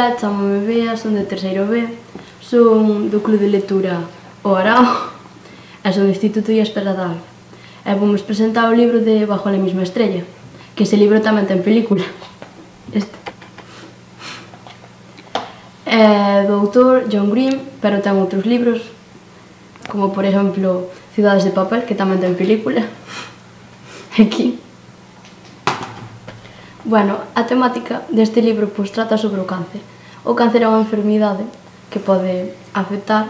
Ola, chamome Bea, son de terceiro B, son do Club de Lectura O Arao e son do Instituto Díaz Peradal. E vamos presentar o libro de Bajo la misma estrella, que ese libro tamén ten película. Este. É do autor John Green, pero ten outros libros, como por exemplo Ciudades de papel, que tamén ten película. Aquí. Bueno, a temática deste libro pois trata sobre o cáncer. O cáncer é unha enfermidade que pode afectar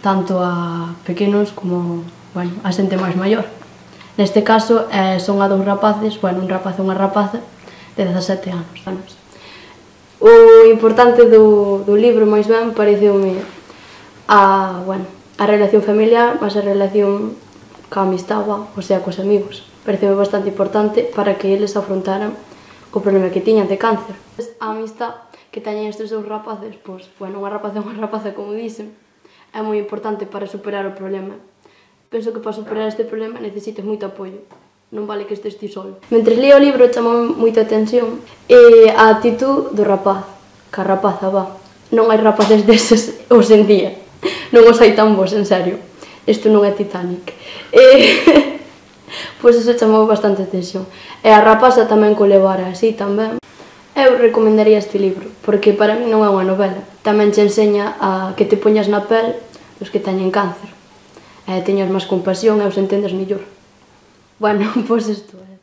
tanto a pequenos como, bueno, a xente máis maior. Neste caso, son a dous rapaces, bueno, un rapaz e unha rapaza de 17 anos. O importante do libro, máis ben, pareceume a relación familiar, mas a relación ca amistade, o sea, cos amigos. Pareceume bastante importante para que eles afrontaran o problema que tiñan de cáncer. A amistade que teñen estes dous rapaces, pois, bueno, unha rapaza e unha rapaza, como dicen, é moi importante para superar o problema. Penso que para superar este problema necesitas moito apoio, non vale que estes ti solo. Mentres lía o libro chamou moita atención a actitud do rapaz, que a rapaza va. Non hai rapaces deses hoxe en día, non os hai tan bons, en serio. Isto non é Titanic. Pois eso chamou bastante atención. E a rapaza tamén co levara así tamén. Eu recomendaría este libro, porque para mí non é unha novela. Tamén te enseña a que te poñas na pel dos que teñen cáncer. E teñas máis compasión e os entendes mellor. Bueno, pois isto é.